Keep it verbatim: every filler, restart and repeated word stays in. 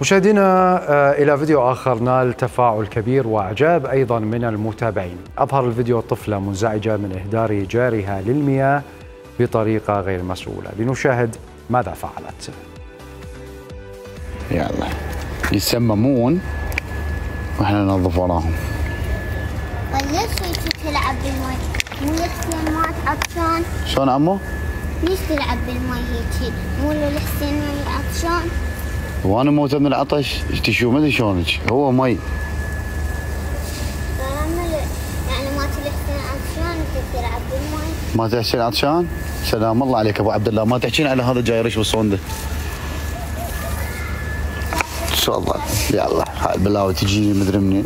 مشاهدينا إلى فيديو آخر نال تفاعل كبير وإعجاب أيضا من المتابعين. أظهر الفيديو طفلة منزعجة من إهدار جارها للمياه بطريقة غير مسؤولة. لنشاهد ماذا فعلت. يلا يسممون واحنا ننظف وراهم. ليش تلعب بالمي؟ مو لحسين ما عطشان؟ شلون عمو؟ ليش تلعب بالمي هيك؟ مو لحسين عطشان؟ وانا موت من العطش، تشوف ما ادري شلونك، هو مي. يعني ما تلحسين عطشان انت تلعب بالمي؟ ما تحسين عطشان؟ سلام الله عليك ابو عبد الله، ما تحكين على هذا جاي يرش بالصونده. ان شاء الله. يلا هاي البلاوي تجيني مدري منين.